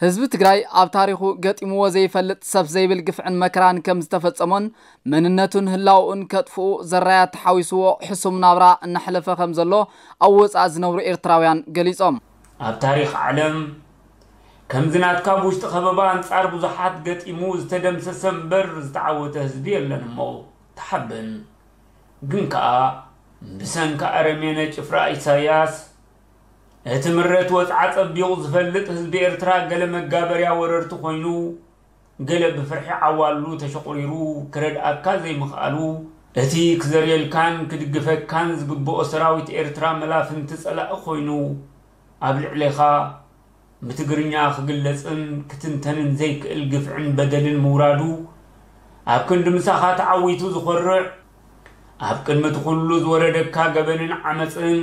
ህዝቢ ትግራይ ኣብ ታሪኹ ገጢምዎ ዘይፈልጥ ሰፍ ዘይብል ግፍዕን መከራን ከም ዝተፈጸሞን መንነቱን ህላውኡን ከጥፍኡ ዘራያት ተሓዊስዎ ሕሱም ናብራ እናሕለፈ ከም ዘሎ ኣብ ወጻኢ ዝነብሩ ኤርትራውያን ገሊጾም። ኣብ ታሪኽ ዓለም ከምዚ ናትካ ብውሽጢ ከበባ ኣንጻር ብዙሓት ገጢሙ ዝተደምሰሰ እምበር ዝተዓወተ ህዝቢ የለን እሞ ተሓበን። ግን ከኣ ብሰንኪ ኣረሜነ ጭፍራ ኢሳያስ እቲ ምረት ወጽዓ ጸቢቑ ዝፈልጥ ህዝቢ ኤርትራ ገለ መጋበርያ ወረርቲ ኮይኑ፣ ገለ ብፍርሒ ዓዋሉ ተሸቑሪሩ ክረድኣካ ዘይምኽኣሉ፣ እቲ ክዘርየልካን ክድግፈካን ዝግብኦ ሰራዊት ኤርትራ መላፍንቲ ጸላኢ ኮይኑ ኣብ ልዕሌኻ ብትግርኛ ክግለጽን ክትንተንን ዘይክእል ግፍዕን በደልን ምውራዱ፣ ኣብ ክንዲ ምሳኻ ተዓዊቱ ዝኾርዕ፣ ኣብ ቅድሚ እቲ ኩሉ ዝወረደካ ገበንን ዓመጽን፣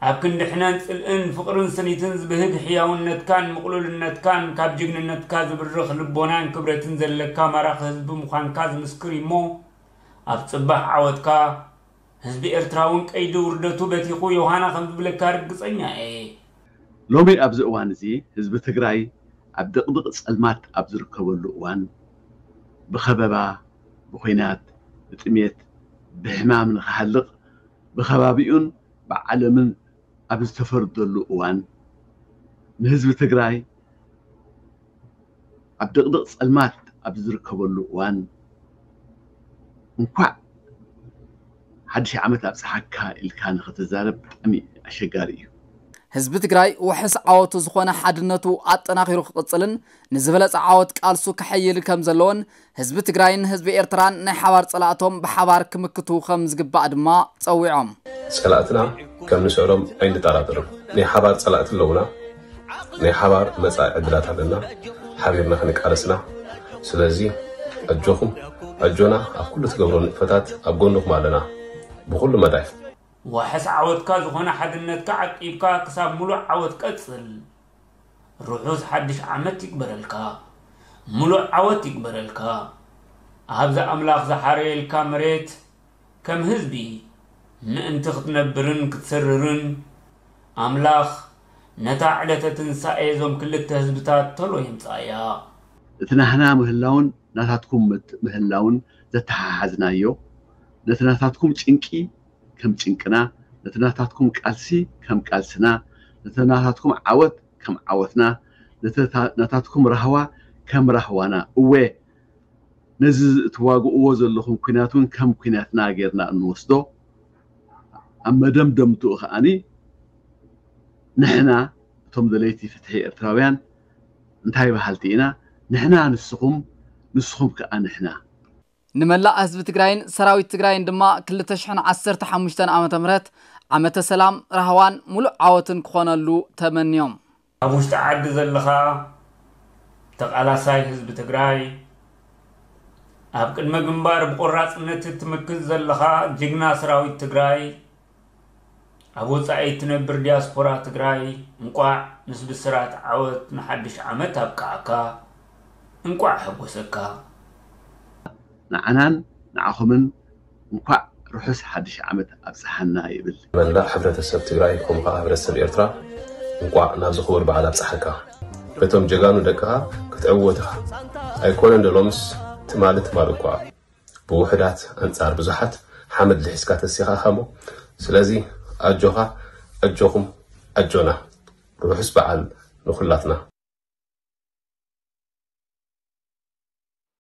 ኣብ ክንዲ ሕነን ጽልእን ፍቕርን ስኒትን ዝብህግ ሕያውነትካን ምቕሉልነትካን ካብ ጅግንነትካ ዝብርኽ ልቦናን ክብረትን ዘለካ ማራኺ ህዝቢ ምዃንካ ዝምስክር እዩ እሞ፣ ኣብ ጽባሕ ዓወትካ ህዝቢ ኤርትራ እውን ቀይዲ ውርደቱ በቲኹ ዮሃና ከም ዝብለካ ርግጸኛ እየ። ሎሚ ኣብዚ እዋን እዚ ህዝቢ ትግራይ ኣብ ድቕድቕ ጸልማት ኣብ ዝርከበሉ እዋን፣ ብኸበባ፣ ብኹናት፣ ብጥሜት፣ ብሕማም ንኽሃልቕ ብኸባቢኡን ብዓለምን ኣብ ዝተፈርደሉ እዋን፣ ንህዝቢ ትግራይ ኣብ ድቕድቕ ጸልማት ኣብ ዝርከበሉ እዋን፣ እንኳዕ ሓድሽ ዓመት ኣብጽሓካ ኢልካ ንኽትዛረብ ብጣዕሚ ኣሸጋሪ እዩ። ህዝቢ ትግራይ ውሕስ ዓወቱ ዝኾነ ሓድነቱ ኣጠናኺሩ ክቕጽልን ንዝበለጸ ዓወት ቃልሱ ከሐይል ከም ዘለዎን ህዝቢ ትግራይን ህዝቢ ኤርትራን ናይ ሓባር ጸላእቶም ብሓባር ክምክቱ ከም ዝግባእ ድማ ጸዊዖም። ጸላእትና ከም ንስዕሮም ኣይንጠራጠርም። ናይ ሓባር ጸላእቲ ኣለዉና። ናይ ሓባር መጻኢ ዕድላት ኣለና። ሓቢርና ክንቃለስና። ስለዚ ኣጆኹም፣ ኣጆና፣ ኣብ ኩሉ ትገብሮ ንጥፈታት ኣብ ጎንኹም ኣለና። ብኹሉ መዳይ። ዋሕስ ዓወትካ ዝኾነ ሓድነትካ ዓቂብካ ክሳብ ሙሉእ ዓወት ቀጽል። ርሑስ ሓድሽ ዓመት ይግበረልካ። ሙሉእ ዓወት ይግበረልካ። ኣብዚ ኣምላኽ ዝሓረየልካ መሬት ከም ህዝቢ ምእንቲ ክትነብርን ክትስርርን ኣምላኽ ነታ ዕለተ ትንሳኤ እዞም ክልተ ህዝብታት ቶሎ የምጽኣያ። እቲ ናህና ምህላውን ናታትኩም ምት-፣ ምህላውን ዘተሓሓዝናዮ፣ ነቲ ናታትኩም ጭንቂ ከም ጭንቅና፣ ነቲ ናታትኩም ቃልሲ ከም ቃልስና፣ ነቲ ናታትኩም ዓወት ከም ዓወትና፣ ነቲ ታ-፣ ናታትኩም ራህዋ ከም ራህዋና፣ እወ፣ ነዚ እትዋግእዎ ዘለኹም ኲናት እውን ከም ኲናትና ጌርና እንወስዶ፣ ኣብ መደምደምትኡ ከኣኒ ንሕና እቶም ደለይቲ ፍትሒ ኤርትራውያን እንታይ በሃልቲ ኢና? ንሕና ንስኹም፣ ንስኹም ከኣ ንሕና። ንመላእ ህዝቢ ትግራይን ሰራዊት ትግራይን ድማ ክልተ ሽሕን ዓሰርተ ሓሙሽተን ዓመተ ምህረት ዓመተ ሰላም፣ ራህዋን ሙሉእ ዓወትን ክኾነሉ ተመንዮም። ኣብ ውሽጢ ዓዲ ዘለኻ ተቓላሳይ ህዝቢ ትግራይ፣ ኣብ ቅድመ ግንባር ብቆራጽነት እትምክት ዘለኻ ጅግና ሰራዊት ትግራይ፣ ኣብ ወጻኢ እትነብር ዲያስፖራ ትግራይ፣ እንቋዕ ምስ ብስራት ዓወት ንሓድሽ ዓመት ኣብቅዓካ። እንቋዕ ሓጎሰካ። ንዓናን ንዓኹምን እንኳዕ ርሑስ ሓድሽ ዓመት ኣብጽሓና ይብል። መላእ ሕብረተሰብ ትግራይ ከምኡ ከዓ ሕብረተሰብ ኤርትራ እንቋዕ ናብዚ ክቡር በዓል ኣብጽሓካ። በቶም ጀጋኑ ደቅኻ ክትዕወት ኢኻ። ኣይኮነን ዶ ሎምስ ትማሊ ትማሊ እኳ። ብውሑዳት ኣንጻር ብዙሓት ሓመድ ልሒስካ ተሲኻ ኢኻ እሞ። ስለዚ ኣጆኻ፣ ኣጆኹም፣ ኣጆና። ርሑስ በዓል ንኹላትና።